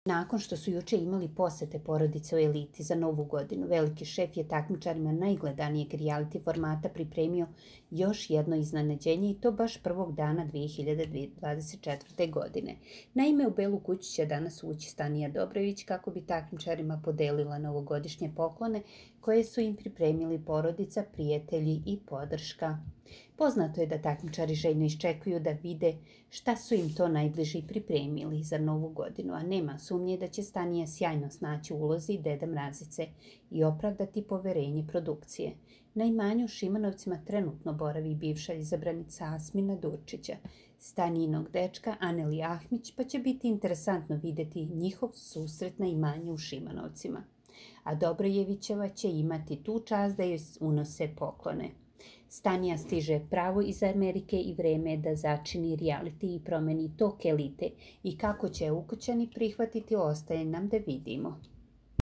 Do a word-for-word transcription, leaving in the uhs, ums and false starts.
Nakon što su juče imali posete porodice u Eliti za Novu godinu, veliki šef je takmičarima najgledanijeg reality formata pripremio još jedno iznenađenje i to baš prvog dana dve hiljade dvadeset četvrte. godine. Naime, u Belu kuću će danas ući Stanija Dobrović kako bi takmičarima podelila novogodišnje poklone koje su im pripremili porodica, prijatelji i podrška. Poznato je da takmičari željno iščekuju da vide šta su im to najbliži pripremili za Novu godinu, a nema sumnje da će Stanija sjajno snaći u ulozi Deda Mrazice i opravdati poverenje produkcije. Na imanju u Šimanovcima trenutno boravi bivša izabranica Asmina Durčića, Stanijinog dečka Aneli Ahmić, pa će biti interesantno vidjeti njihov susret na imanju u Šimanovcima. A Dobrojevićeva će imati tu čast da joj unose poklone. Stanija stiže pravo iz Amerike i vreme je da začini reality i promeni tok Elite i kako će ukućani prihvatiti ostaje nam da vidimo.